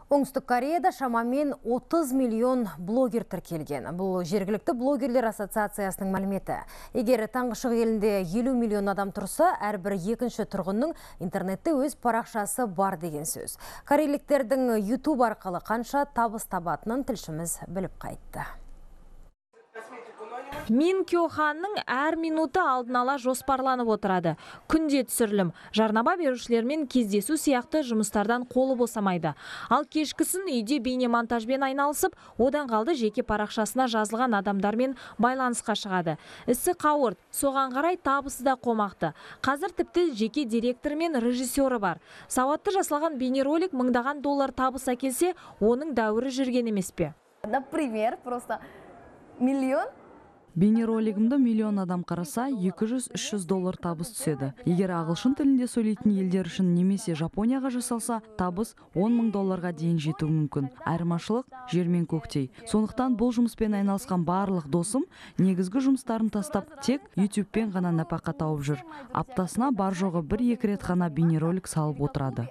Оңтүстік Кореяда шамамен 30 миллион блогер тіркелген. Бұл жергілікті блогерлер ассоциациясының мәліметі. Егер таңғы шығыс елінде 50 миллион адам тұрса, әрбір екінші тұрғынның интернетте өз парақшасы бар деген сөз. Корейліктердің YouTube арқылы қанша табыс табатынын тілшіміз біліп қайтты. Мин Кё Ханның әр минуты алдын ала жоспарланып отырады. Күнде түсірілім, жарнама берушілермен кездесу сияқты жұмыстардан қолы босамайды. Ал кешкісін үйде бейнемонтажбен айналысып, одан қалды жеке парақшасына жазылған адамдармен байланысқа шығады. Ісі қауырт, соған қарай табысы да қомақты. Қазір тіпті жеке директор мен режиссері бар. Сауатты жасалған бейнеролик мыңдаған доллар табыс әкелсе, оның дәуірі жүрген емес пе? Например, просто миллион. Бейнеролигімді миллион адам қараса, 200-300 доллар табыс түседі. Егер ағылшын тілінде сөйлейтін елдер үшін немесе Жапонияға жасалса, табыс 10 мың долларға дейін жетуі мүмкін. Айырмашылық жер мен көктей. Сондықтан бұл жұмыспен айналысқан барлық досым негізгі жұмыстарын тастап, тек YouTube-пен ғана нәпақа тауып жүр. Аптасына бар жоғы 1-2 рет ғана бейнеролик салып отырады.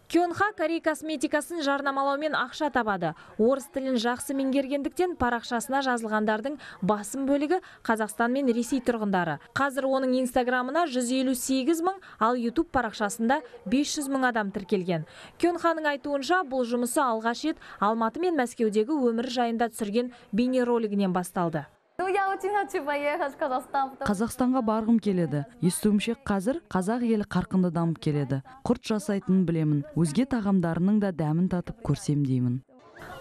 Кёнха Корей косметикасын жарнамалаумен ақша табады. Орыс тілін жақсы меңгергендіктен парақшасына жазылғандардың басым бөлігі Қазақстан мен Ресей тұрғындары. Қазір оның инстаграмына 158 мың, ал YouTube парақшасында 500 мың адам тіркелген. Кёнханың айтуынша, бұл жұмысы алғаш рет Алматы мен Мәскеудегі өмір жайында түсірген бейнеролигінен басталды. Қазақстанға барғым келеді. Естуімше қазір қазақ елі қарқынды дамып келеді. Құрт жасайтынын білемін. Өзге тағамдарының да дәмін татып көрсем деймін.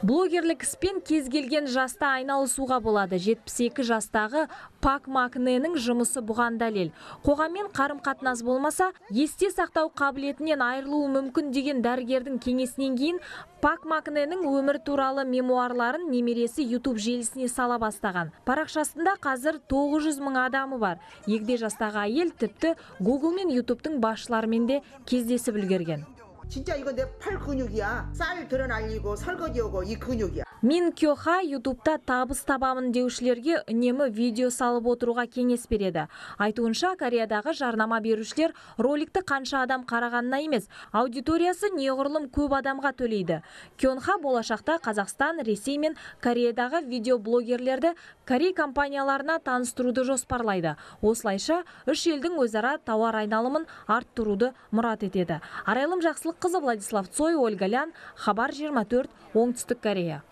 Блогерлік іспен кез келген жаста айналысуға болады. 72 жастағы Пак Макненің жұмысы бұған дәлел. Қоғаммен қарым-қатынас болмаса, есте сақтау қабілетінен айырылуы мүмкін деген дәрігердің кеңесінен кейін Пак Макненің өмір туралы мемуарларын немересі YouTube желісіне сала бастаған. Парақшасында қазір 900 мың адамы бар. Егде жастағы әйел тіпті Google мен YouTube'тың басшыларымен де кездесіп үлгерген. 진짜 이거 내 팔 근육이야. 쌀 드러날리고 설거지하고 이 근육이야. Мин Кё Ха YouTube'та табыс табамын деушілерге үнемі видео салып отыруға кеңес береді. Айтуынша, Кореядағы жарнама берушілер роликті қанша адам қарағанына емес, аудиториясы неғұрлым көп адамға төлейді. Кёнха болашақта Қазақстан, Ресей мен Кореядағы видеоблогерлерді Корей компанияларына таныстыруды жоспарлайды. Осылайша, үш елдің өзара тауар айналымын арттыруды мұрат етеді. Арайлым Жақсылыққызы, Владислав Цой, Ольга Лян, Хабар 24, Оңтүстік Корея.